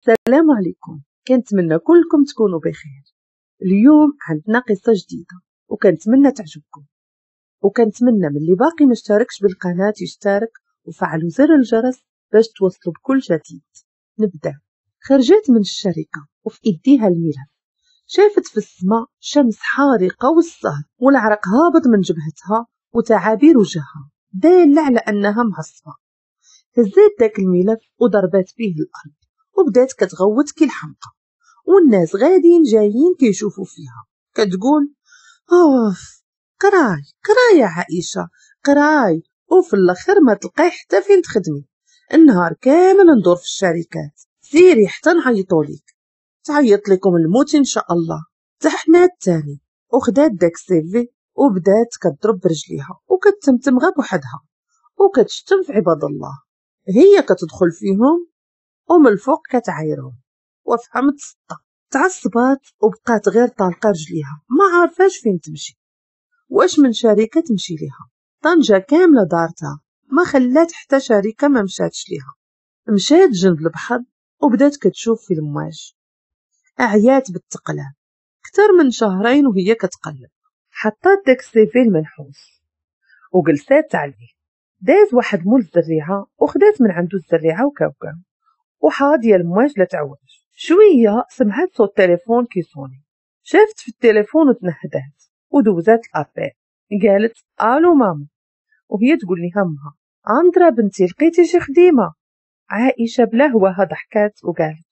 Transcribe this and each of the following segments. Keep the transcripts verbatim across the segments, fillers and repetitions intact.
السلام عليكم، كنتمنى كلكم تكونوا بخير. اليوم عندنا قصة جديدة وكنتمنى تعجبكم، وكنتمنى من اللي باقي ما اشتركش بالقناة يشترك وفعلوا زر الجرس باش توصلوا بكل جديد. نبدأ. خرجت من الشركة وفي ايديها الملف، شافت في السماء شمس حارقة والصهد والعرق هابط من جبهتها وتعابير وجهها دالة على أنها معصبة. هزات داك الملف وضربات به الأرض وبدات كتغوت كي الحمقى، والناس غاديين جايين كيشوفوا فيها. كتقول اوف قراي قراي يا عائشة قراي، وفي الاخر ما تلقاي حتى فين تخدمي، النهار كامل ندور في الشركات، سيري حتى نعيطوا ليك، تعيط لكم الموت ان شاء الله. تحنات تاني وخدات داك ال CV وبدات كتضرب برجليها وكتمتم غا بوحدها وكتشتم في عباد الله، هي كتدخل فيهم ومن الفوق كتعايرهم. وفهمت السطة، تعصبات وبقات غير طالقه رجليها ما عارفاش فين تمشي، واش من شركة تمشي ليها. طنجه كاملة دارتها ما خلات حتى شركة ما مشاتش ليها. مشات جنب البحر وبدات كتشوف في المواج، اعيات بالتقلاب اكثر من شهرين وهي كتقلب. حطات داك ال CV المنحوس وجلسات عليه. داز واحد مول الزريعه وخدات من عنده الزريعه وكاوكاو وحاضيه المواج لا تعوج. شوية سمعت صوت التليفون كيصوني، شافت في التليفون وتنهدات ودوزات l'appel. قالت الو ماما، وهي تقول لها امها اندرا بنتي لقيتي شي خديمه؟ عائشة بلا هواها ضحكات وقالت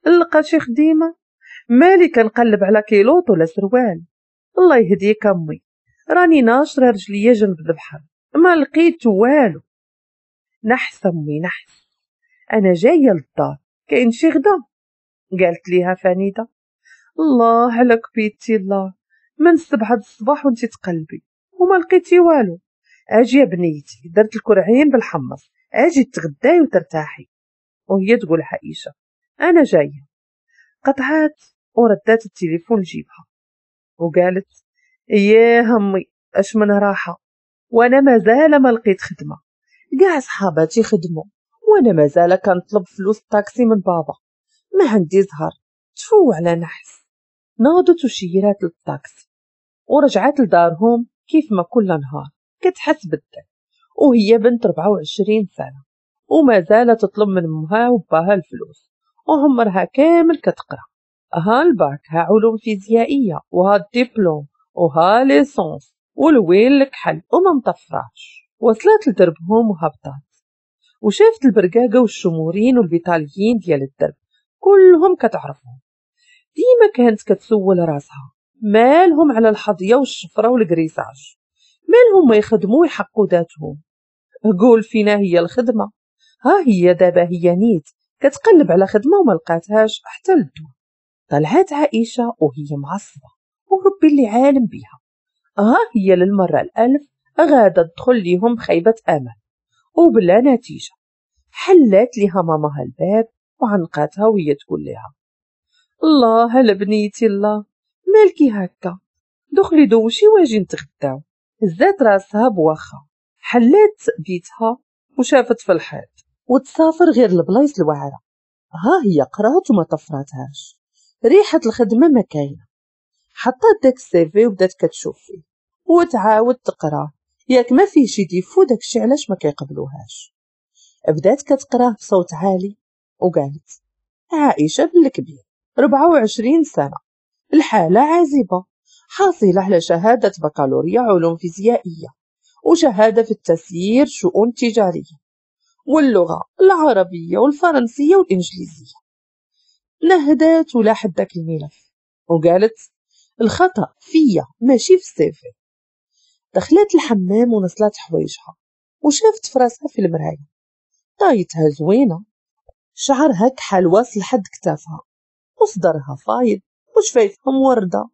لقى شي خديمه؟ مالي كنقلب على كيلوط ولا سروال؟ الله يهديك امي، راني ناشره رجليا جنب البحر ما لقيت والو. نحس امي نحس، انا جاية للدار كاين شي غدا؟ قالت ليها فنيده الله على كبيتي الله، من السبعة الصباح وانت تقلبي وما لقيتي والو. اجي يا بنيتي درت الكرعين بالحمص، اجي تغداي وترتاحي. وهي تقول عائشة انا جاية. قطعات وردات التليفون لجيبها وقالت يا همي اش من راحة، وانا مازال ما لقيت خدمة، كاع صحاباتي خدموا وانا مازال كنطلب فلوس الطاكسي من بابا، ما عندي زهر، تفو على نحس. ناضت وشيرات للطاكسي ورجعت لدارهم كيف ما كل نهار كتحس بالذنب، وهي بنت أربعة وعشرين سنة وما زالت تطلب من امها وباها الفلوس، وعمرها كامل كتقرا، ها الباك ها علوم فيزيائية وها الدبلوم وها licence والويل الكحل وما مطفراش. وصلت لدربهم وهبطات وشافت البرقاقه والشمورين والبيطاليين ديال الدرب كلهم كتعرفهم. ديما كانت كتسول راسها مالهم على الحظيه والشفره وال agressage، مالهم ما يخدموا ويحقوا ذاتهم، قول فينا هي الخدمة. ها هي دابا هي نيت كتقلب على خدمة وما لقاتهاش حتى للدوا. طلعت عائشة وهي معصبة وربي اللي عالم بيها، ها هي للمرة الالف غاده تدخل ليهم بخيبه امل وبلا نتيجة. حلات ليها ماماها الباب وعنقاتها وهي تقول لها الله هلا بنيتي الله مالكي هكا، دخلي دوشي واجي نتغداو. هزات راسها بواخا، حلات بيتها وشافت في الحيط وتسافر غير البلايص الواعره. ها هي قرات وما طفراتهاش، ريحه الخدمة ما كاينه. حطات داك ال CV وبدات كتشوف فيه وتعاود تقراه، ياك ما فيه شي défaut داكشي علاش ما كيقبلوهاش. بدات كتقراه بصوت عالي وقالت عائشة بالكبير أربعة وعشرين سنة، الحالة عازبه، حاصله على شهادة بكالوريا علوم فيزيائية وشهادة في التسيير شؤون تجارية واللغة العربية والفرنسيه والانجليزية. نهدات ولاحت داك الملف وقالت الخطا فيا ماشي في ال CV. دخلت الحمام ونصلات حوايجها وشافت فراسها في المراية، طايتها زوينة، شعرها كحل واصل لحد كتافها وصدرها فايض وشفايفها مورده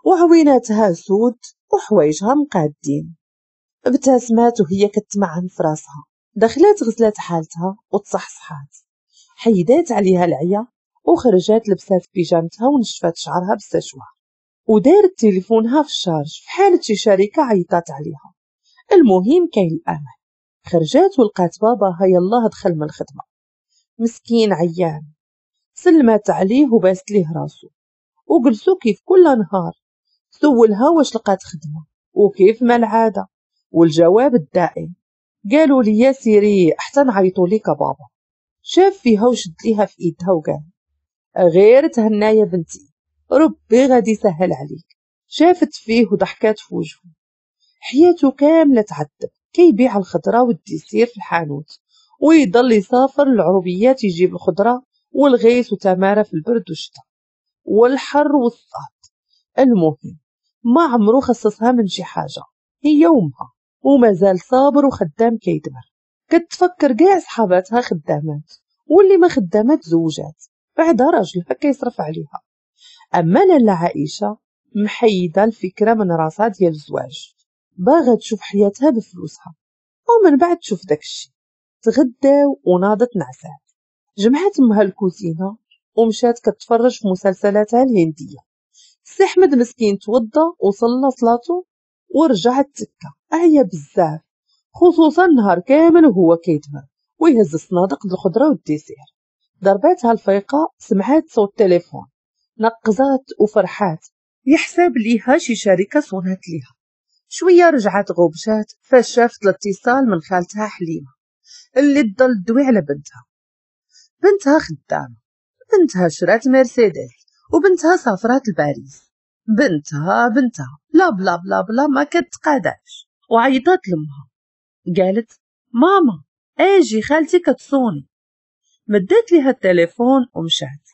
وعويناتها سود وحوايجها مقادين. ابتسمات وهي كتمعن في راسها. دخلات غسلات حالتها وتصحصحات، حيدات عليها العيا وخرجات لبسات بيجامتها ونشفات شعرها بالسشوار ودارت تليفونها في ال charge في حالة شي شركة عيطات عليها. المهم كاين الأمل. خرجات ولقات باباها يلاه دخل من الخدمة، مسكين عيان، سلمات عليه وباست ليه راسو وجلسو كيف كل نهار. سولها واش لقات خدمة وكيف ما العادة، والجواب الدائم قالوا لي يا سيري حتى نعيطوا ليك بابا. شاف فيها وشد ليها في ايدها وقال غير تهنا يا بنتي، ربي غادي يسهل عليك. شافت فيه وضحكات في وجهه. حياته كاملة تعذب، كيبيع الخضرة وال dessert في الحانوت، ويضل يسافر للعربيات يجيب الخضرة والغيث وتمارة في البرد والشتاء والحر والصهد. المهم ما عمرو خصصها من شي حاجة، هي وامها، ومازال صابر وخدام كيدمر. كتفكر كاع صحاباتها خدامات، واللي ما خدامات زوجات، بعدها راجلها كيصرف عليها. اما لاله عائشة محيده الفكرة من راسها ديال الزواج، باغا تشوف حياتها بفلوسها ومن بعد تشوف داكشي. تغداو وناضت نعسات، جمعت امها الكوزينة ومشات كتفرج في مسلسلاتها الهندية. سي احمد مسكين توضى وصلى صلاته ورجع التكه، عيا بزاف خصوصا نهار كامل وهو كيدمر ويهز الصنادق الخضرة وال dessert. ضرباتها الفيقه، سمعات صوت التليفون، نقزات وفرحات، يحسب ليها شي شركة صونات ليها. شوية رجعت غوبشات فاش شافت الاتصال من خالتها حليمة اللي تضل تدوي على بنتها. بنتها خدامه، بنتها شرات مرسيدس، وبنتها سافرات لباريس، بنتها بنتها بلا بلا بلا بلا ما كتقاداش. وعيطات لامها قالت ماما اجي خالتي كتصوني. مدات ليها التليفون ومشات.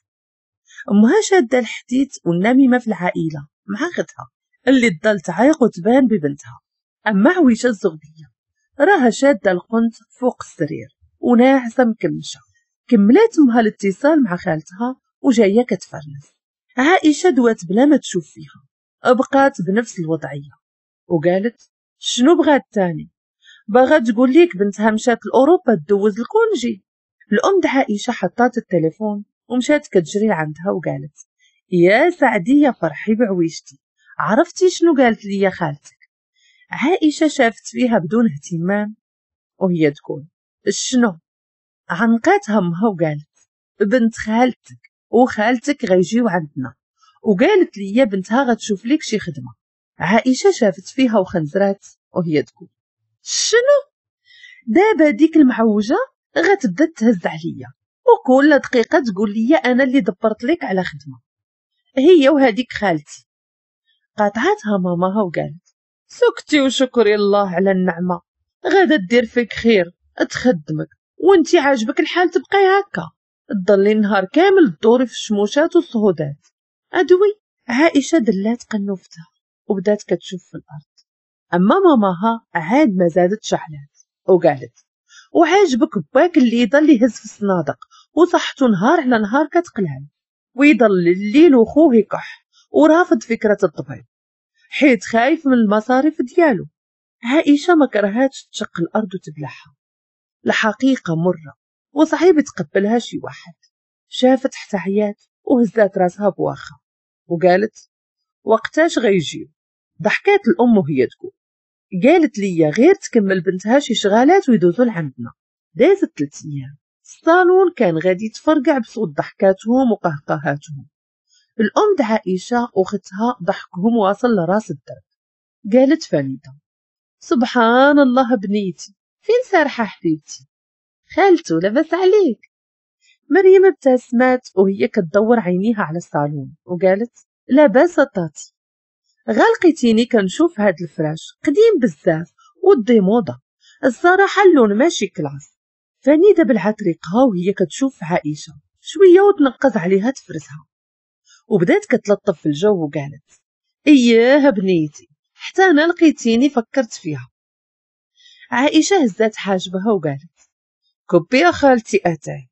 امها شاده الحديث والنميمة في العائلة مع اختها اللي تضل تعيق وتبان ببنتها. اما عويشه الزغبيه راها شاده القنت فوق السرير وناعسه مكمشه. كملات امها الاتصال مع خالتها وجاية كتفرنس. عائشة دوات بلا ما تشوف فيها، بقات بنفس الوضعية وقالت شنو بغات تاني؟ باغا تقول ليك بنتها مشات لاوروبا تدوز ال congé. الام د عائشة حطات التليفون ومشات كتجري لعندها وقالت يا سعديه فرحي بعويشتي، عرفتي شنو قالت لي يا خالتك؟ عائشة شافت فيها بدون اهتمام وهي تقول شنو؟ عنقاتها امها وقالت بنت خالتك وخالتك غيجيو عندنا، وقالت لي بنتها غتشوف لك شي خدمة. عائشة شافت فيها وخنزرات وهي تقول شنو؟ دابا ديك المعوجه غتبدا تهز عليا وكل دقيقة تقول لي انا اللي دبرت لك على خدمة، هي وهذيك خالتي. قاطعتها ماماها وقالت سكتي وشكري الله على النعمة، غادا دير فيك خير تخدمك وانتي عاجبك الحال تبقاي هكا تضلي النهار كامل تدوري في الشموشات والصهودات. ادوي. عائشة دلات قنوفتها وبدات كتشوف في الارض. اما ماماها عاد ما زادت شعلات وقالت وعاجبك باك اللي يضل يهز في الصنادق وصحته نهار على نهار كتقلال ويضل الليل وخوه يكح ورافض فكرة الطبيب حيت خايف من المصاريف ديالو. عائشة ما كرهاتش تشق الارض وتبلعها، الحقيقة مرة وصعيب تقبلها شي واحد. شافت حتى عيات وهزات راسها بواخا وقالت وقتاش غيجيو؟ ضحكات الام وهي تقول قالت لي غير تكمل بنتها شي شغالات ويدوزو لعندنا. دازت ثلاث ايام، الصالون كان غادي يتفرقع بصوت ضحكاتهم وقهقهاتهم. الام د عائشة واختها ضحكهم واصل لراس الدرب. قالت فانيده سبحان الله بنيتي فين سارحه حبيبتي؟ خالته لاباس عليك؟ مريم ابتسمت وهي كتدور عينيها على الصالون وقالت لاباس طاتي، غالقيتيني كنشوف هاد الفراش قديم بزاف و démodé، الصراحة اللون ماشي classe. فنيده بلعت ريقها وهي كتشوف عائشة شوية وتنقز عليها تفرسها، وبدات كتلطف في الجو وقالت اياه بنيتي حتى انا لقيتيني فكرت فيها. عائشة هزات حاجبها وقالت كبي يا خالتي اتاي.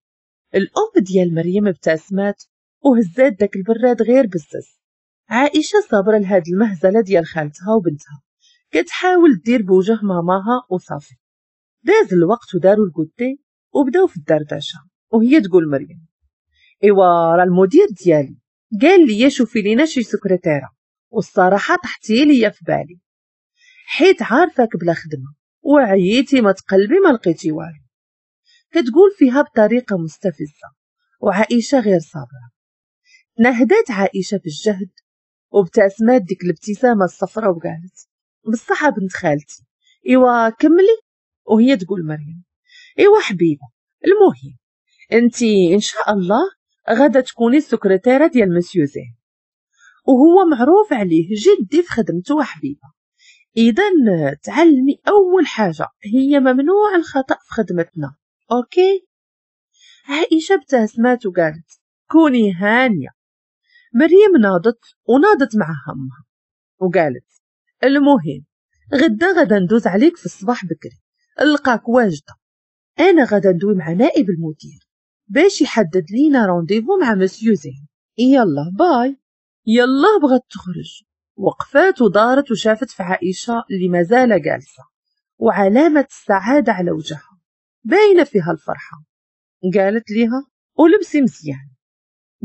الام ديال مريم ابتسمات وهزات داك البراد غير بزز. عائشة صابره لهاد المهزلة ديال خالتها وبنتها، كتحاول دير بوجه ماماها وصافي. داز الوقت وداروا ال goûter وبداو في الدردشة، وهي تقول مريم ايوا راه المدير ديالي قال لي شوفي لينا شي سكرتيره، والصراحة طحتي ليا في بالي حيت عارفاك بلا خدمة وعييتي ما تقلبي ما لقيتي والو. كتقول فيها بطريقة مستفزة وعائشة غير صابرة. نهدت عائشة بالجهد وابتسمت ديك الابتسامة الصفراء وقالت بصحة بنت خالتي، ايوا كملي. وهي تقول مريم ايوا حبيبة، المهم انتي ان شاء الله غادا تكوني السكرتيرة ديال مسيو زين، وهو معروف عليه جدي في خدمته حبيبة. اذا تعلمي اول حاجة هي ممنوع الخطأ في خدمتنا، okay؟ عائشة ابتسمت وقالت كوني هانية. مريم ناضت وناضت مع همها وقالت المهم غدا غدا ندوز عليك في الصباح بكري، نلقاك واجدة. انا غدا ندوي مع نائب المدير باش يحدد لينا rendez-vous مع مسيو زين. يلا bye. يلا بغات تخرج، وقفات ودارت وشافت في عائشة اللي مازال جالسة وعلامة السعادة على وجهها باينة فيها الفرحة. قالت ليها ولبسي مزيان.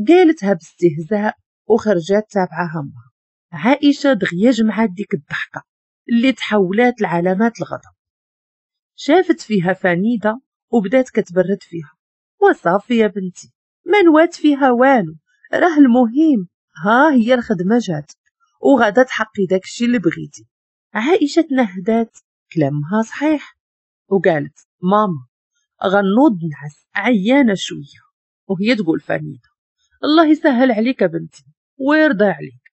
قالتها باستهزاء وخرجات تابعة همها. عائشة دغيا جمعات ديك الضحكة اللي تحولات لعلامات الغضب. شافت فيها فنيدة وبدات كتبرد فيها، وصافي يا بنتي ما نوات فيها والو، راه المهم ها هي الخدمة جات وغادا تحقي داكشي اللي بغيتي. عائشة تنهدات، كلامها صحيح، وقالت ماما غنوض نعس عيانة شوية. وهي تقول فنيدة الله يسهل عليك بنتي ويرضى عليك.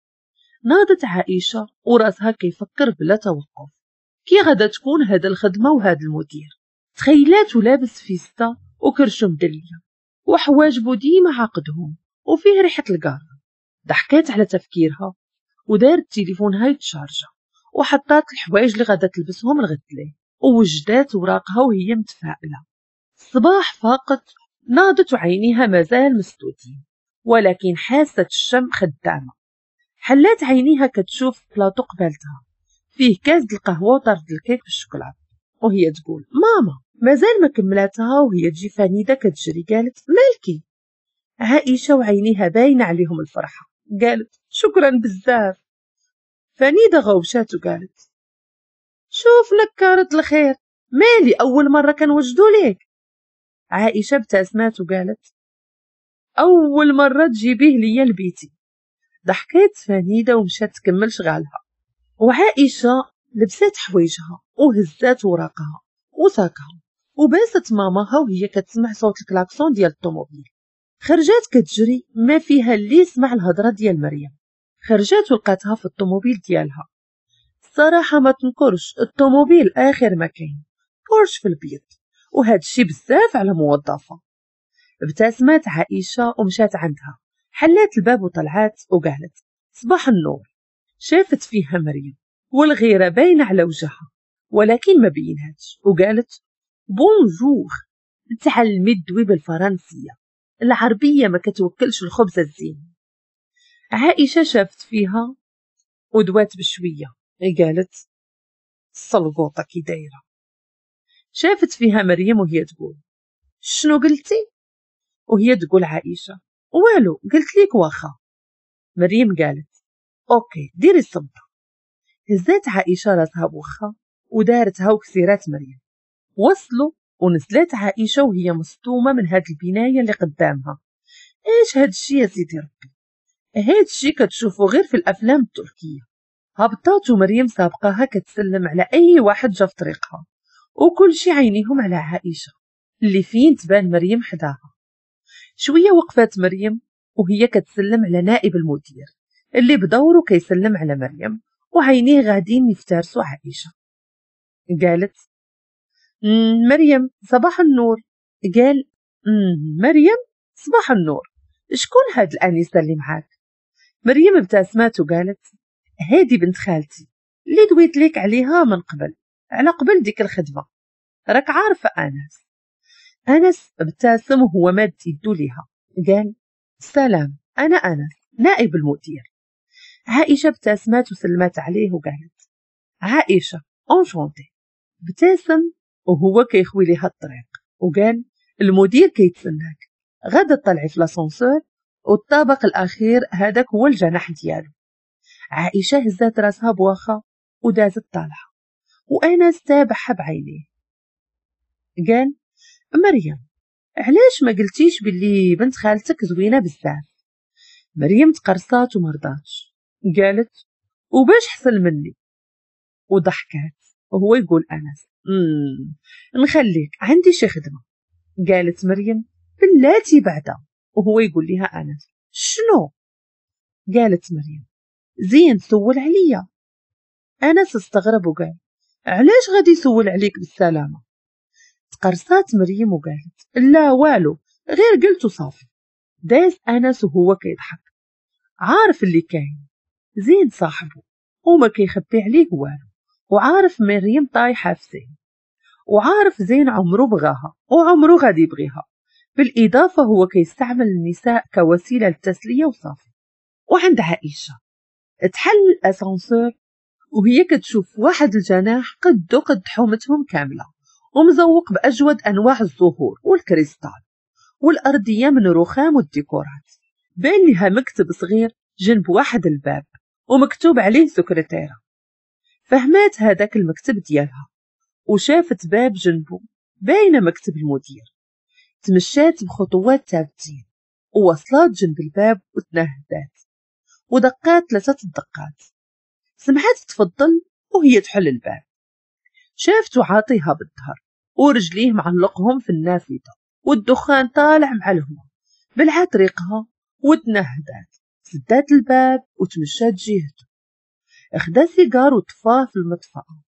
ناضت عائشة وراسها كيفكر بلا توقف كي غادا تكون هاد الخدمة وهاد المدير. تخيلات ولابس فيستا وكرشو مدلية وحواجبو ديما عاقدهم وفيه ريحة القارة. ضحكات على تفكيرها ودارت تليفونها يتشارجا وحطات الحوايج اللي غادا تلبسهم الغد ليه ووجدات وراقها وهي متفائلة. الصباح فاقت، ناضت وعينيها مازال مسدودين ولكن حاسة الشم خدامة. حلات عينيها كتشوف بلاطو قبالتها فيه كاس القهوة وطرد الكيك بالشوكولاتة وهي تقول ماما. مازال ما كملاتها وهي تجي فنيدة كتجري قالت مالكي؟ عائشة وعينيها باينة عليهم الفرحة قالت شكرا بزاف. فنيدة غوشات وقالت شوف نكارة الخير، مالي أول مرة كنوجدو ليك. عائشة ابتسمات وقالت أول مرة تجيبيه ليا لبيتي. ضحكات فنيدة ومشات تكمل شغالها، وعائشة لبسات حوايجها وهزات وراقها وساكها وباست ماماها وهي كتسمع صوت الكلاكسون ديال الطوموبيل. خرجات كتجري ما فيها اللي يسمع الهضرة ديال مريم. خرجات ولقاتها في الطوموبيل ديالها. الصراحة ما تنكرش الطوموبيل اخر ما كاين، بورش في البيض، وهذا الشيء بزاف على موظفة. ابتسمت عائشة ومشات عندها، حلات الباب وطلعات وقالت صباح النور. شافت فيها مريم والغيرة باينة على وجهها ولكن ما بينهاش وقالت bonjour. تعلمي تدوي بالفرنسيه، العربية ما كتوكلش الخبز الزين. عائشة شافت فيها ودوات بشوية قالت السلقوطه كي دايرة. شافت فيها مريم وهي تقول شنو قلتي؟ وهي تقول عائشة والو قلت ليك واخا. مريم قالت okay ديري الصبه. هزات عائشة راسها بوخا ودارتها وكسيرات مريم. وصلوا ونزلت عائشة وهي مصدومة من هاد البناية اللي قدامها. ايش هاد الشي يا سيدي ربي؟ هاد الشي كتشوفو غير في الافلام التركية. هبطات ومريم سابقاها كتسلم على اي واحد جا في طريقها، وكل شي عينيهم على عائشة اللي فين تبان مريم حداها. شوية وقفات مريم وهي كتسلم على نائب المدير اللي بدوره كيسلم على مريم وعينيه غاديين يفترسوا عائشة. قالت مريم صباح النور. قال مريم صباح النور، شكون هاد الانسة اللي معاك؟ مريم ابتسمت وقالت هادي بنت خالتي اللي دويت ليك عليها من قبل، على قبل ديك الخدمة راك عارفه. انس انس ابتسم وهو ماد يدو ليها قال سلام انا انس نائب المدير. عائشة ابتسمت وسلمت عليه وقالت عائشة enchantée. ابتسم وهو كيخوي ليها الطريق وقال المدير كيتسناك، غدا طلعي في l'ascenseur والطابق الاخير هذاك هو الجناح ديالو. عائشة هزات راسها بواخا ودازت طالعه وانس تابعها بعينيه. قال مريم علاش ما قلتيش باللي بنت خالتك زوينة بزاف؟ مريم تقرصات ومرضاتش، قالت وباش حسن مني؟ وضحكات. وهو يقول انس امم نخليك عندي شي خدمة. قالت مريم بلاتي بعدا. وهو يقول لها انس شنو؟ قالت مريم زين سول عليا. انس استغرب وقال علاش غادي يسول عليك بالسلامة؟ تقرصات مريم وقالت لا والو غير قلت وصافي. داز انس وهو كيضحك، عارف اللي كاين، زين صاحبه وما كيخبي عليه والو، وعارف مريم طايحة في زين، وعارف زين عمرو بغاها وعمرو غادي يبغيها. بالاضافة هو كيستعمل النساء كوسيلة للتسليه وصافي. وعند عائشة تحل الاسانسور وهي كتشوف واحد الجناح قدو قد حومتهم كاملة، ومزوق باجود انواع الزهور والكريستال، والارضيه من رخام والديكورات. بان لها مكتب صغير جنب واحد الباب ومكتوب عليه سكرتيره. فهمات هذاك المكتب ديالها وشافت باب جنبه باينة مكتب المدير. تمشات بخطوات ثابتين ووصلات جنب الباب وتنهدات ودقات ثلاثة الدقات. سمعت تفضل وهي تحل الباب. شافته عاطيها بالظهر ورجليه معلقهم في النافذة والدخان طالع مع الهواء. بلعت ريقها وتنهدات، سدات الباب وتمشات جهته. اخدا سيجار وطفاه في المطفأة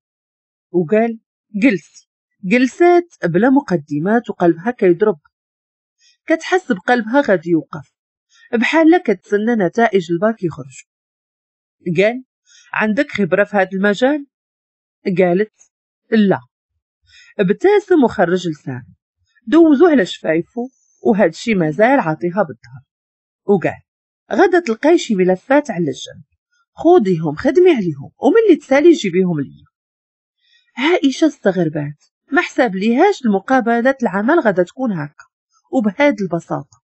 وقال جلسي. جلسات بلا مقدمات وقلبها كيضرب، كتحس بقلبها غادي يوقف بحال كتسنى نتائج الباك يخرجوا. قال عندك خبرة في هذا المجال؟ قالت لا. ابتسم وخرج لسانه، دوزو على شفايفه وهذا الشيء مازال عاطيها بالظهر. وقال غدا تلقاي شي ملفات على الجنب، خوديهم خدمي عليهم وملي تسالي جيبيهم ليا. عائشة استغربات، ما حساب ليهاش المقابلة العمل غدا تكون هكا وبهاد البساطة.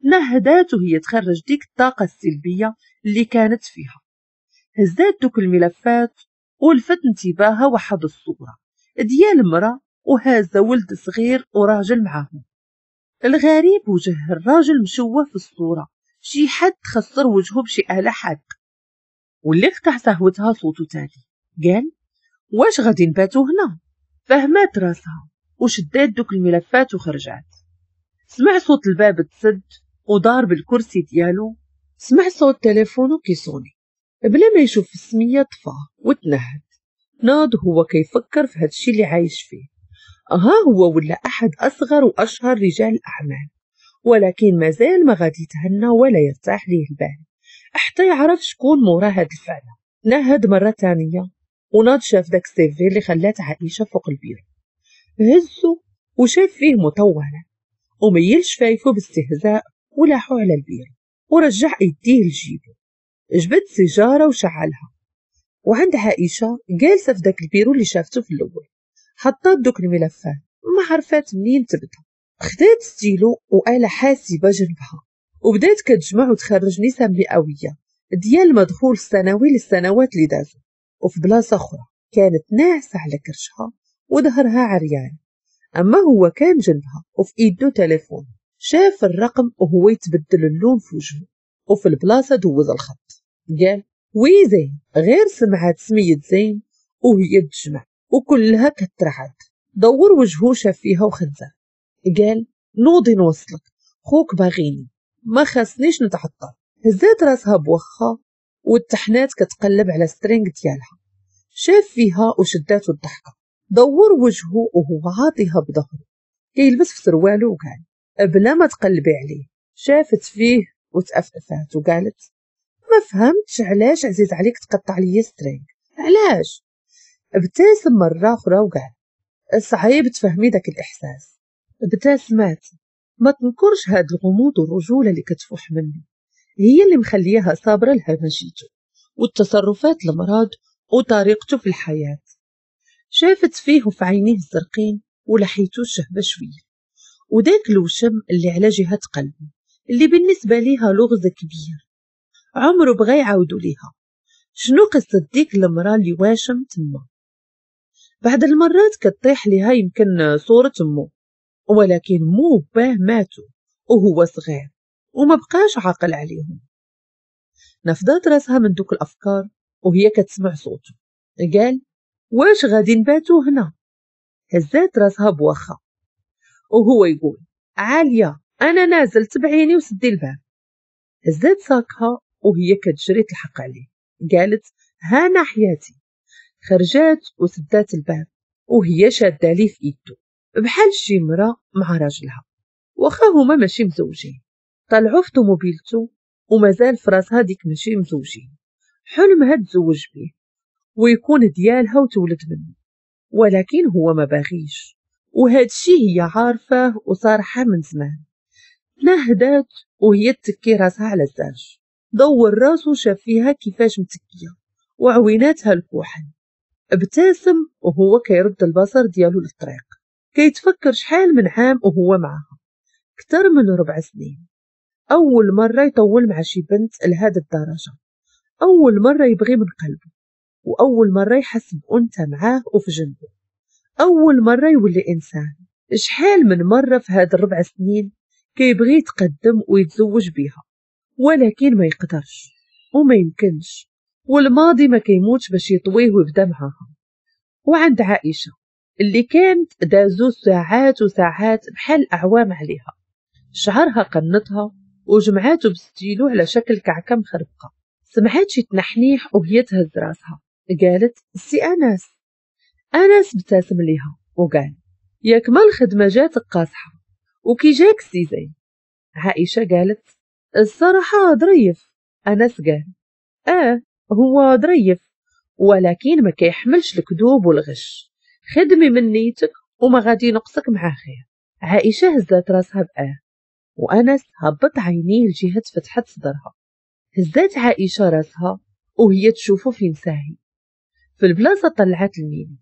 نهدات وهي تخرج ديك الطاقة السلبية اللي كانت فيها. هزات دوك الملفات ولفت انتباهها واحد الصورة ديال مرأة وهازة ولد صغير وراجل معاهم. الغريب وجه الراجل مشوه في الصورة، شي حد خسر وجهه بشي آلة حادة. واللي قطع سهوتها صوته تاني، قال واش غادي نباتو هنا؟ فهمات راسها وشدات دوك الملفات وخرجات. سمع صوت الباب تسد ودار بالكرسي ديالو. سمع صوت تليفونه كيصوني بلا ما يشوف السمية، طفاه وتنهد. ناض هو كيفكر في هادشي اللي عايش فيه. ها هو ولا احد اصغر واشهر رجال الاعمال، ولكن مازال ما غادي يتهنى ولا يرتاح ليه البال حتى يعرف شكون مورا هاد الفعلة. نهد مرة تانية وناض شاف داك ال CV اللي خلات عائشة فوق البيرو، هزو وشاف فيه مطولة وميل شفايفو باستهزاء ولاحو على البيرو ورجع ايديه لجيبو. جبد سيجارة وشعلها. وعند عائشة جالسة في داك البيرو اللي شافته في الاول، حطات دوك الملفات ما عرفات منين تبدا. خدات ستيلو وآلة حاسبه جنبها وبدات كتجمع وتخرج نسب مئوية ديال المدخول السنوي للسنوات اللي دازو. وفي بلاصة اخرى كانت ناعسه على كرشها وظهرها عريان، اما هو كان جنبها وفي ايدو تليفون. شاف الرقم وهو يتبدل اللون في وجهه وفي البلاصة دوز الخط. قال oui زين. غير سمعت سمية زين وهي تجمع وكلها كترعد. دور وجهه شاف فيها وخنزر. قال نوضي نوصلك، خوك باغيني ما خاصنيش نتعطل. هزات راسها بوخا والتحنات كتقلب على string ديالها. شاف فيها وشداتو الضحكة. دور وجهه وهو عاطيها بظهره كيلبس في سروالو وقال بلا ما تقلبي عليه. شافت فيه وتأفأفات وقالت ما فهمتش علاش عزيز عليك تقطع لي string، علاش؟ ابتسم مرة أخرى وقال صعيب تفهمي داك الإحساس. ابتسمات، ما تنكرش هاد الغموض والرجولة اللي كتفوح منه هي اللي مخليها صابرة لهمجيته والتصرفات المرض وطريقته في الحياة. شافت فيه وفي عينيه الزرقين ولحيته الشهبة شوية وداك الوشم اللي على جهة قلبه اللي بالنسبة ليها لغز كبير عمره بغى يعاودو ليها. شنو قصة ديك المرأة اللي واشم تما؟ بعد المرات كطيح ليها يمكن صورة أمه، ولكن مو باه ماتوا وهو صغير وما بقاش عاقل عليهم. نفضات راسها من دوك الأفكار وهي كتسمع صوته. قال واش غادي نباتو هنا؟ هزات راسها بواخا وهو يقول عالية أنا نازل تبعيني وسدي الباب. هزات ساكها وهي كتجري تلحق عليه. قالت هانا حياتي. خرجات وسدات الباب وهي شاده ليه في ايدو بحال شي مرا مع راجلها، واخا هما ماشي مزوجين. طلعوا في طوموبيلتو ومازال في راسها ديك ماشي مزوجين، حلمها تزوج بيه ويكون ديالها وتولد منه، ولكن هو ما باغيش، وهادشي هي عارفاه وصارحه من زمان. تنهدات وهي تكي راسها على الزاج. دور راسو شاف فيها كيفاش متكيه وعويناتها الكحل. ابتسم وهو كيرد البصر ديالو للطريق، كيتفكر شحال من عام وهو معها، اكثر من ربع سنين. اول مرة يطول مع شي بنت لهذا الدرجة، اول مرة يبغي من قلبه، واول مرة يحس بانثى معاه وفي جنبه، اول مرة يولي انسان. شحال من مرة في هاد الربع سنين كيبغي يتقدم ويتزوج بيها، ولكن ما يقدرش وما يمكنش، والماضي ما كيموتش باش يطويه ويبدا معاها. وعند عائشة اللي كانت دازو ساعات وساعات بحال أعوام عليها، شعرها قنطها وجمعاته بستيلو على شكل كعكة مخربقة. سمعات شي تنحنيح وهي تهز راسها. قالت سي أنس. أنس ابتسم ليها وقال ياك ما الخدمة جاتك قاصحة وكي جاك سي زين؟ عائشة قالت الصراحة ظريف. أنس قال آه هو ظريف، ولكن ما كيحملش الكذوب والغش، خدمي من نيتك وما غادي نقصك مع خير. عائشة هزات راسها بآه، وأنس هبط عينيه لجهة فتحة صدرها. هزات عائشة راسها وهي تشوفه فين ساهي في البلاصة. طلعت الميني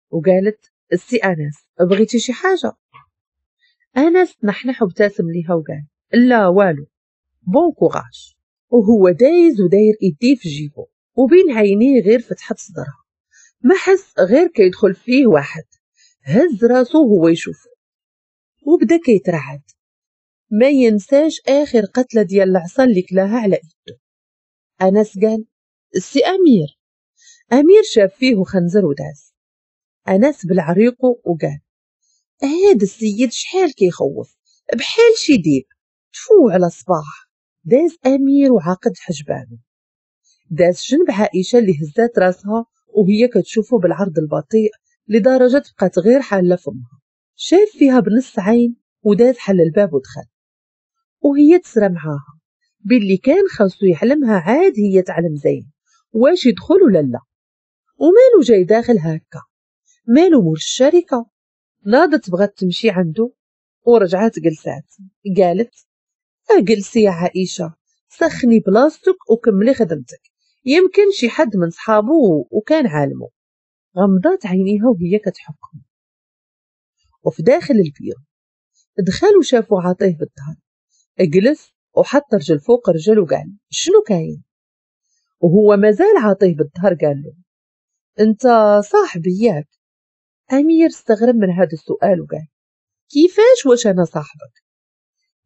وقالت السي أنس بغيتي شي حاجة؟ أنس نحنح وابتسم ليها وقال لا والو، bon courage. وهو دايز وداير ايديه في جيبو وبين عينيه غير فتحة صدرها، ما حس غير كيدخل فيه واحد. هز راسو وهو يشوفه وبدا كيترعد، ما ينساش اخر قتله ديال العصا اللي كلاها على ايدو. انس قال السي امير. امير شاف فيه وخنزر وداز. انس بالعريقو وقال هاد السيد شحال كيخوف بحال شي ديب، تفو على صباح. داز امير وعقد حجبانه. داز جنب عائشة اللي هزات راسها وهي كتشوفه بالعرض البطيء لدرجة بقات غير حاله فمها. شاف فيها بنص عين وداز حل الباب ودخل، وهي تسرى معاها باللي كان خاصو يعلمها عاد هي تعلم زين واش يدخل ولا لا. ومالو جاي داخل هكا؟ مالو مول الشركة؟ ناضت بغات تمشي عنده ورجعت جلسات. قالت اجلسي يا عائشة، سخني بلاصتك وكملي خدمتك، يمكن شي حد من صحابه وكان عالمه. غمضات عينيها وهي كتحكم. وفي داخل البيرو دخل وشافو عاطيه بالظهر. اجلس وحط رجل فوق رجل وقال شنو كاين؟ وهو مازال عاطيه بالظهر. قال له انت صاحبي ياك؟ امير استغرب من هذا السؤال وقال كيفاش واش انا صاحبك؟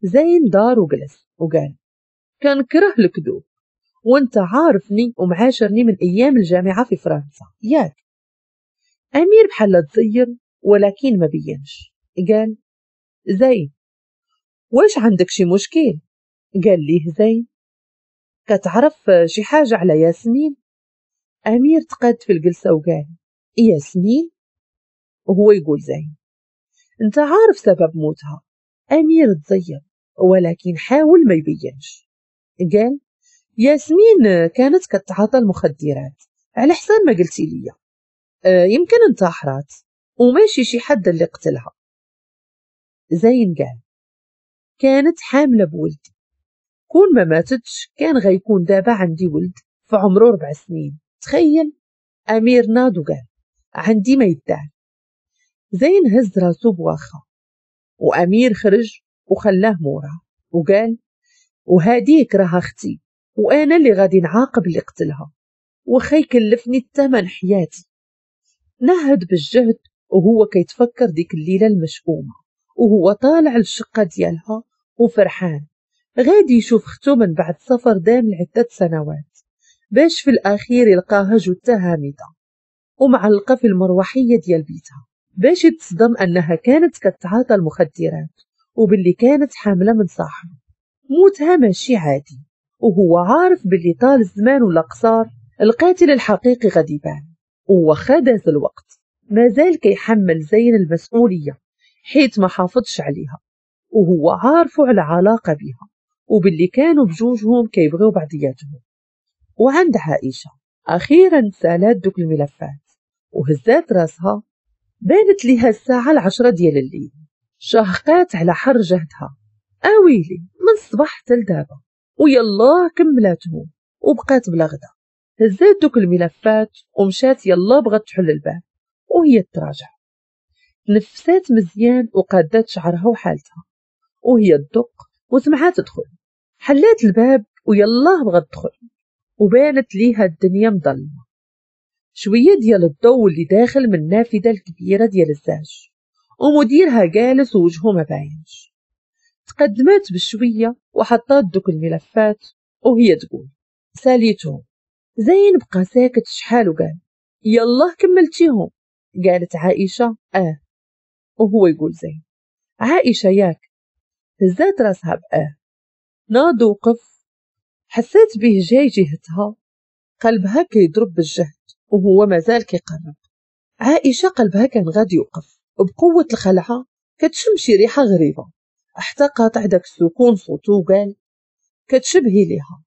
زين دار وجلس وقال كنكره الكذوب، وانت عارفني ومعاشرني من ايام الجامعة في فرنسا ياك؟ امير بحال تزير ولكن ما بينش. قال زين واش عندك شي مشكل؟ قال ليه زين كتعرف شي حاجة على ياسمين؟ امير تقاد في الجلسة وقال ياسمين؟ وهو يقول زين انت عارف سبب موتها. امير تزير ولكن حاول ما يبينش. قال ياسمين كانت كتعاطى المخدرات على حساب ما قلتي لي، أه يمكن انتحرات وماشي شي حد اللي قتلها. زين قال كانت حامله بولدي، كون ما ماتتش كان غيكون دابا عندي ولد في عمره ربع سنين، تخيل. امير ناض وقال عندي ما يدعي. زين هز راسو بواخا، وامير خرج وخلاه موراه وقال وهاديك راها اختي وانا اللي غادي نعاقب اللي قتلها، وخا يكلفني الثمن حياتي. نهد بالجهد وهو كيتفكر ديك الليلة المشؤومه وهو طالع للشقة ديالها وفرحان غادي يشوف اختو من بعد سفر دام لعدة سنوات، باش في الأخير يلقاها جثة هامدة ومعلقة في المروحية ديال بيتها، باش يتصدم أنها كانت كتعاطى المخدرات وباللي كانت حاملة من صاحبه. موتها ماشي عادي، وهو عارف باللي طال الزمان ولا قصار القاتل الحقيقي غادي يبان. وواخا داز الوقت مازال كيحمل زين المسؤولية حيت ما حافظش عليها، وهو عارفه على علاقة بها وباللي كانوا بجوجهم كيبغيو بعضياتهم. وعند عائشة أخيرا سالات دوك الملفات وهزات راسها، بانت ليها الساعة العشرة ديال الليل. شهقات على حر جهدها، أويلي من الصباح حتى لدابا، ويلا كملاتهم وبقات بلا غدا. هزات دوك الملفات ومشات يلا بغات تحل الباب وهي تراجع. تنفسات مزيان وقادات شعرها وحالتها وهي تدق وسمعات تدخل. حلات الباب ويلا بغات تدخل وبانت ليها الدنيا مظلمة، شوية ديال الضوء اللي داخل من النافذة الكبيرة ديال الزاج، ومديرها جالس ووجهه ما باينش. تقدمات بشوية وحطات دوك الملفات وهي تقول ساليتهم. زين بقى ساكت شحال وقال يلا كملتيهم؟ قالت عائشة اه، وهو يقول زين عائشة ياك؟ هزات راسها باه. ناض وقف، حسيت به جاي جهتها، قلبها كيضرب بالجهد وهو مازال كيقرب. عائشة قلبها كان غادي يوقف وبقوة الخلعة كتشم شي ريحة غريبة، حتى قاطع داك السكون صوتو وقال كتشبهي ليها.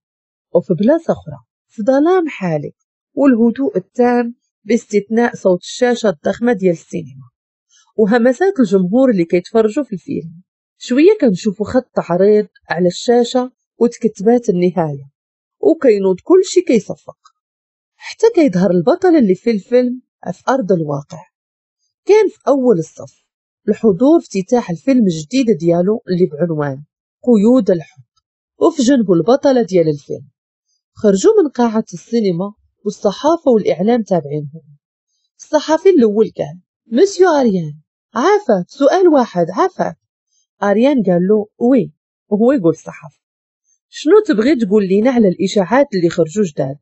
وفي بلاصة أخرى في ظلام حالك والهدوء التام باستثناء صوت الشاشة الضخمة ديال السينما وهمسات الجمهور اللي كيتفرجوا في الفيلم. شوية كنشوفوا خط عريض على الشاشة وتكتبات النهاية، وكينوض كل شي كيصفق حتى كيظهر البطل اللي في الفيلم في أرض الواقع. كان في أول الصف الحضور افتتاح الفيلم الجديد ديالو اللي بعنوان قيود الحب، وفي جنبه البطلة ديال الفيلم. خرجوا من قاعة السينما والصحافة والإعلام تابعينهم. الصحفي الأول قال مسيو أريان عافاك سؤال واحد عافاك. أريان قال له oui، وهو يقول الصحفي شنو تبغي تقول لينا على الإشاعات اللي خرجوا جداد؟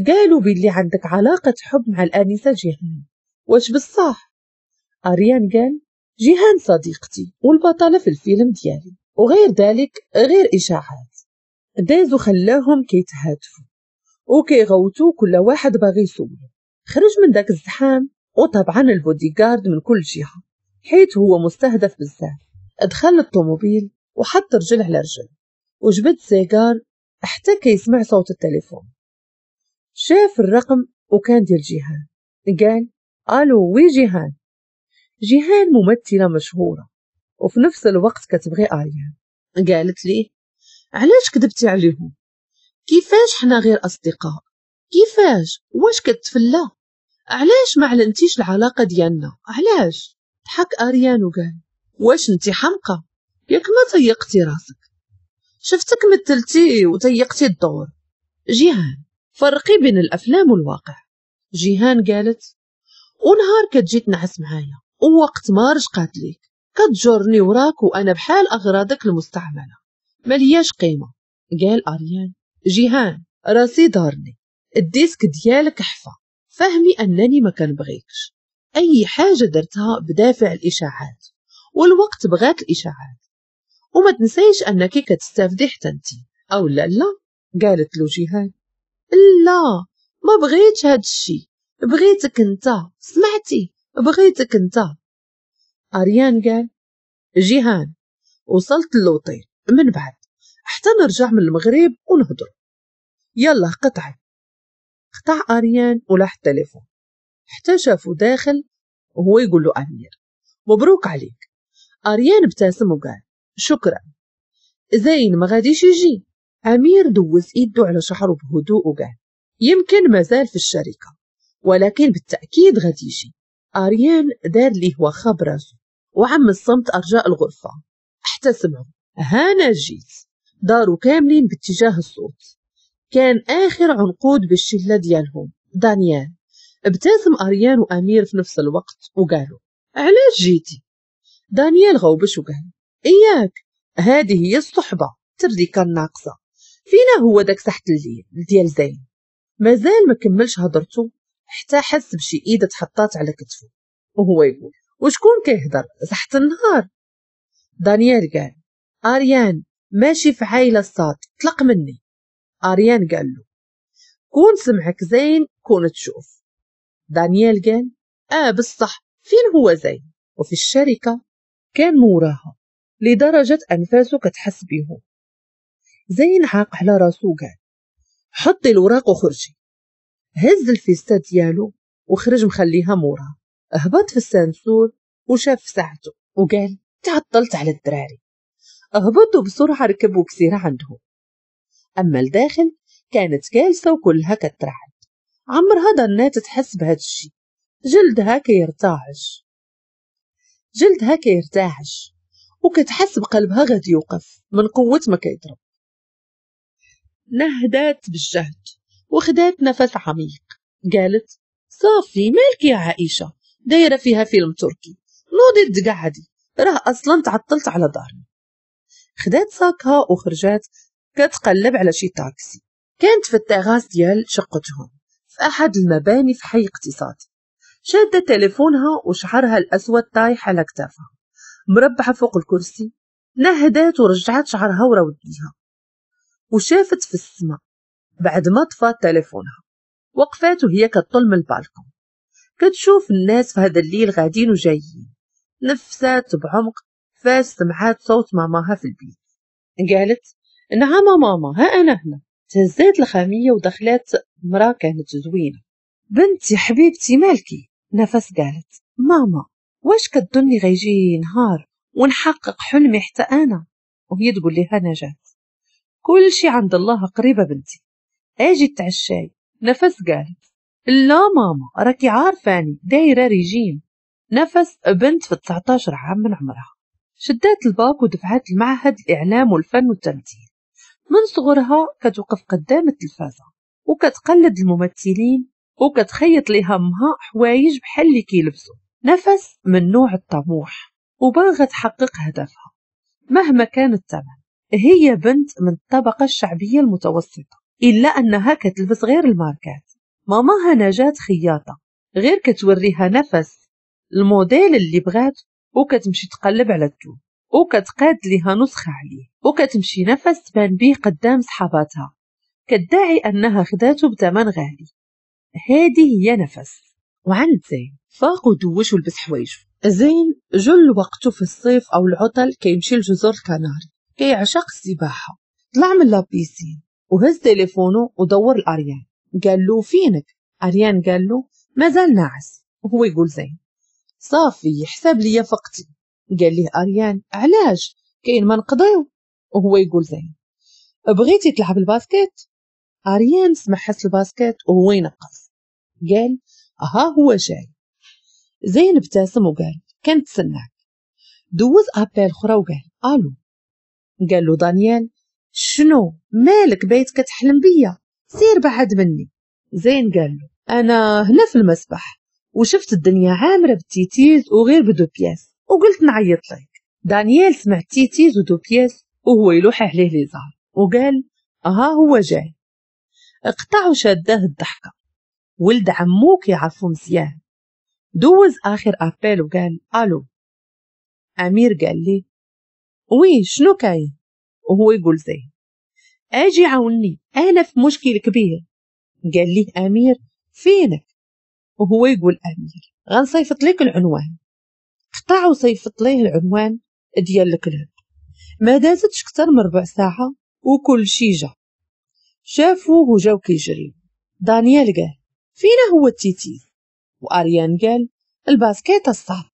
قالوا باللي عندك علاقة حب مع الآنسة جيهان، واش بالصح؟ أريان قال جيهان صديقتي والبطلة في الفيلم ديالي وغير ذلك غير إشاعات. دازو خلاهم كيتهاتفوا وكيغوتوا كل واحد باغي يسولو. خرج من داك الزحام وطبعا البوديغارد من كل جهة حيت هو مستهدف بزاف. دخل الطوموبيل وحط رجل على رجل وجبد سيجار حتى كيسمع صوت التليفون. شاف الرقم وكان ديال جيهان. قال الو oui جيهان. جيهان ممثلة مشهورة وفي نفس الوقت كتبغي آريان. قالت ليه علاش كذبتي عليهم؟ كيفاش حنا غير أصدقاء؟ كيفاش؟ واش كتفلى؟ علاش ما علنتيش العلاقة ديالنا؟ علاش؟ ضحك آريان وقال واش انتي حمقى؟ ياك ما تيقتي راسك، شفتك مثلتي وتيقتي الدور. جيهان فرقي بين الأفلام والواقع. جيهان قالت ونهار كتجي تنعس معايا ووقت ما رشقات ليك كتجرني وراك وأنا بحال أغراضك المستعملة ملياش قيمة. قال أريان جيهان راسي دارني، ال disque ديالك حفا، فهمي أنني ما كنبغيكش، أي حاجة درتها بدافع الإشاعات والوقت بغات الإشاعات، وما تنسيش أنك كتستافدي حتى انتي أو لا لا. قالت له جيهان لا ما بغيتش هاد الشي، بغيتك انت، سمعتي بغيتك انت. أريان قال جيهان وصلت للوطيل من بعد حتى نرجع من المغرب ونهضر، يلا قطعي. قطع أريان ولاح التليفون حتى شافو داخل وهو يقول له أمير مبروك عليك. أريان ابتسم وقال شكرا. زين ما غاديش يجي؟ أمير دوز إيده على شعره بهدوء وقال يمكن مازال في الشركة ولكن بالتأكيد غادي يجي. أريان دار ليه واخا براسو وعم الصمت أرجاء الغرفة حتى سمعوا هانا جيت. داروا كاملين باتجاه الصوت. كان آخر عنقود بالشلة ديالهم دانيال. ابتسم أريان وأمير في نفس الوقت وقالوا علاش جيتي؟ دانيال غوبش وقال اياك، هذه هي الصحبة تردي كان ناقصه. فينا هو داك سحت الليل ديال زين؟ مازال ما كملش هضرته حتى حس بشي ايده تحطات على كتفه وهو يقول وشكون كيهضر سحت النهار؟ دانيال قال اريان ماشي في عايله الصاد، طلق مني. اريان قال له كون سمعك زين كون تشوف. دانيال قال اه بصح فين هو زين؟ وفي الشركة كان موراها لدرجة انفاسه كتحس بيهم. زين عاق على راسو قال حطي الوراق وخرجي. هز الفيستا ديالو وخرج مخليها موراه. هبط في ال ascenseur وشاف ساعته وقال تعطلت على الدراري. هبطوا بسرعة ركبوا كسيرة عندهم. أما الداخل كانت جالسة وكلها كترعد، عمرها ظنات تحس بهذا الشيء. جلدها كيرتعش جلدها كيرتعش وكتحس بقلبها غادي يوقف من قوة ما كيضرب. نهدات بالجهد وخدات نفس عميق. قالت صافي مالك يا عائشة دايرة فيها فيلم تركي، نوضي تقعدي راه أصلا تعطلت على دارنا. خدات ساكها وخرجات كتقلب على شي تاكسي. كانت في التغاس ديال شقتهم في أحد المباني في حي اقتصادي. شادة تليفونها وشعرها الأسود طايح على كتافها، مربعة فوق الكرسي. نهدات ورجعت شعرها ورا ودنيها وشافت في السماء بعد ما طفات تليفونها. وقفات وهي كتطل من البالكون كتشوف الناس في هذا الليل غادين وجايين. نفسات بعمق فاش سمعات صوت ماماها في البيت. قالت نعم ماما ها أنا هنا. تهزات الخامية ودخلات مرا كانت زوينة. بنتي حبيبتي مالكي؟ نفس قالت ماما واش كتظني غيجي نهار ونحقق حلمي حتى أنا؟ وهي تقول لها نجاة كل شي عند الله قريبة بنتي، اجي تعشاي. نفس قالت لا ماما راكي عارفاني دايرة ريجيم. نفس بنت في تسعطاش عام من عمرها، شدات الباك ودفعات المعهد الإعلام والفن والتمثيل. من صغرها كتوقف قدام التلفازة وكتقلد الممثلين وكتخيط لها امها حوايج بحال اللي كيلبسوا. نفس من نوع الطموح وباغة تحقق هدفها مهما كان الثمن. هي بنت من الطبقة الشعبية المتوسطة إلا أنها كتلبس غير الماركات. ماماها نجاة خياطة غير كتوريها نفس الموديل اللي بغات وكتمشي تقلب على التوب وكتقاد ليها نسخة عليه وكتمشي نفس تبان بيه قدام صحاباتها كدعي أنها خداته بثمن غالي. هذه هي نفس. وعند زين فاق ودوش ولبس حوايجه. زين جل وقته في الصيف أو العطل كيمشي لجزر الكناري، كيعشق السباحة. طلع من la piscine وهز تليفونه ودور الأريان. قال له فينك؟ أريان قال له مازال ناعس. وهو يقول زين صافي حساب ليا فقتي. قال ليه أريان علاش كاين ما نقضيو؟ وهو يقول زين بغيتي تلعب ال basket؟ أريان سمع حس ال basket وهو ينقص. قال ها هو جاي. زين ابتسم وقال كنتسناك. دوز appel اخرى وقال الو. قال له دانيال شنو مالك بيت كتحلم بيا؟ سير بعد مني. زين قال له انا هنا في المسبح وشفت الدنيا عامرة بالتيتيز وغير ب deux pièces وقلت نعيط لك. دانيال سمع تيتيز و deux pièces وهو يلوح عليه ليزار وقال ها هو جاي. اقطع وشاداه الضحكة، ولد عمو كيعرفو مزيان. دوز اخر appel وقال الو. امير قال لي oui شنو كاين؟ وهو يقول زين اجي عاوني انا في مشكل كبير. قال لي امير فينك؟ وهو يقول امير غنصيفط لك العنوان. قطع وصيفط ليه العنوان ديال ال club. ما دازتش اكثر من ربع ساعة وكل شي جا. شافوه وجاو كيجريو. دانيال قال فينا هو التيتيز؟ واريان قال ال basket الصاد.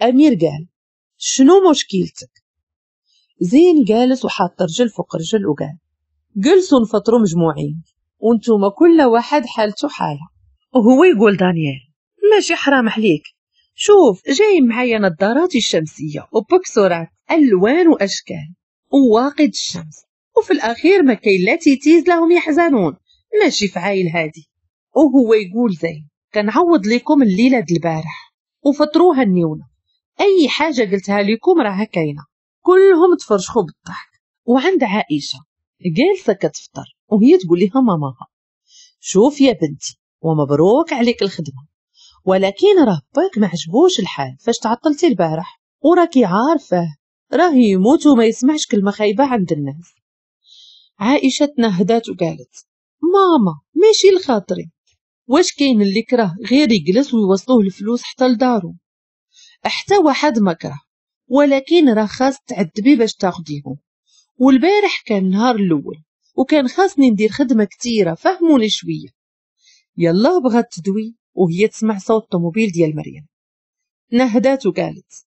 امير قال شنو مشكلتك؟ زين جالس وحاط رجل فوق رجل وقال جلسوا نفطروا مجموعين وانتوما كل واحد حالته حاله. وهو يقول دانيال ماشي حرام عليك، شوف جاي معايا نظاراتي الشمسية وبوكسورات الوان واشكال وواقد الشمس، وفي الاخير ما كاين لا تيتيز لهم يحزنون، ماشي فعايل هادي. وهو يقول زين كنعوض لكم الليلة د البارح وفطروها النيونه، اي حاجة قلتها لكم راها كاينه. كلهم تفرشخوا بالضحك. وعند عائشة جالسة كتفطر وهي تقول لها ماماها شوف يا بنتي ومبروك عليك الخدمة، ولكن راه باك ما عجبوش الحال فاش تعطلتي البارح، وراكي عارفه راه يموت وما يسمعش كلمة خايبة عند الناس. عائشة تنهدات وقالت ماما ماشي لخاطري، واش كاين اللي كره غير يجلس ويوصلوه الفلوس حتى لدارو؟ حتى واحد ما كره، ولكن راه خاص تعذبي باش تاخديهم، والبارح كان النهار الاول وكان خاصني ندير خدمة كثيرة، فهموني شوية. يلا بغات تدوي وهي تسمع صوت طوموبيل ديال مريم. نهدات وقالت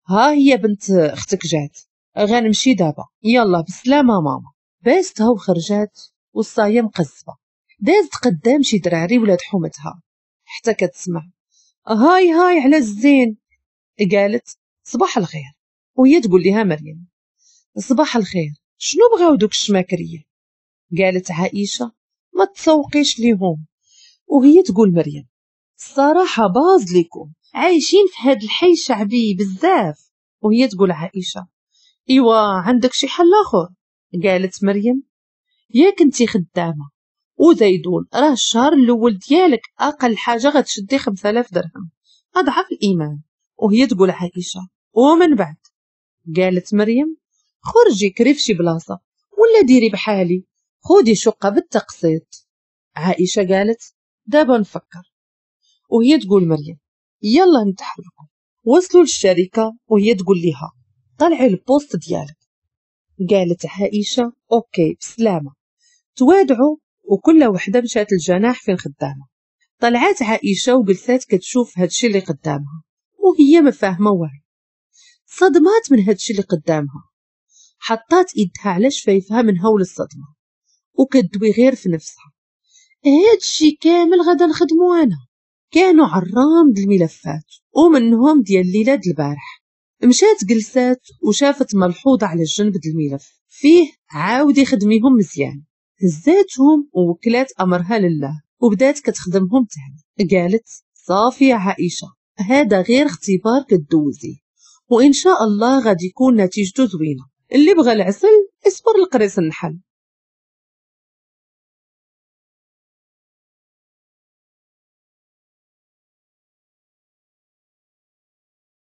ها هي بنت اختك جات، غنمشي دابا، يلا بسلامه ماما. باستها وخرجات والصايه مقزبه. دازت قدام شي دراري ولاد حومتها حتى كتسمع هاي هاي على الزين. قالت صباح الخير، وهي تقول لها مريم صباح الخير، شنو بغاو دوك الشماكريه؟ قالت عائشة ما تسوقيش ليهم. وهي تقول مريم الصراحة باز لكم، عايشين في هاد الحي شعبي بزاف. وهي تقول عائشة ايوا عندك شي حل اخر؟ قالت مريم يا كنتي خدامه وزيدون راه الشهر الاول ديالك اقل حاجة غتشدي خمسة آلاف درهم، اضعف الايمان. وهي تقول عائشة ومن بعد؟ قالت مريم خرجي كري في شي بلاصة ولا ديري بحالي، خودي شقه بالتقسيط. عائشة قالت دابا نفكر. وهي تقول مريم يلا نتحركوا. وصلوا للشركة وهي تقول لها طلعي ال poste ديالك. قالت عائشة OK بسلامه. توادعوا وكل وحده مشات للجناح فين خدامه. طلعات عائشة وجلسات كتشوف هادشي اللي قدامها وهي ما فاهمه والو، صدمات من هادشي اللي قدامها. حطات ايدها على شفايفها من هول الصدمة وكدوي غير في نفسها هادشي كامل غادا نخدمو انا. كانوا عرام د الملفات ومنهم ديال ليلة د البارح. مشات جلسات وشافت ملحوظة على الجنب د الملف فيه عاودي خدميهم مزيان. هزاتهم ووكلات امرها لله وبدات كتخدمهم تاني. قالت صافي يا عائشة هذا غير اختبار كدوزي وان شاء الله غادي يكون نتيجته زوينة، اللي بغى العسل اصبر لقريص النحل.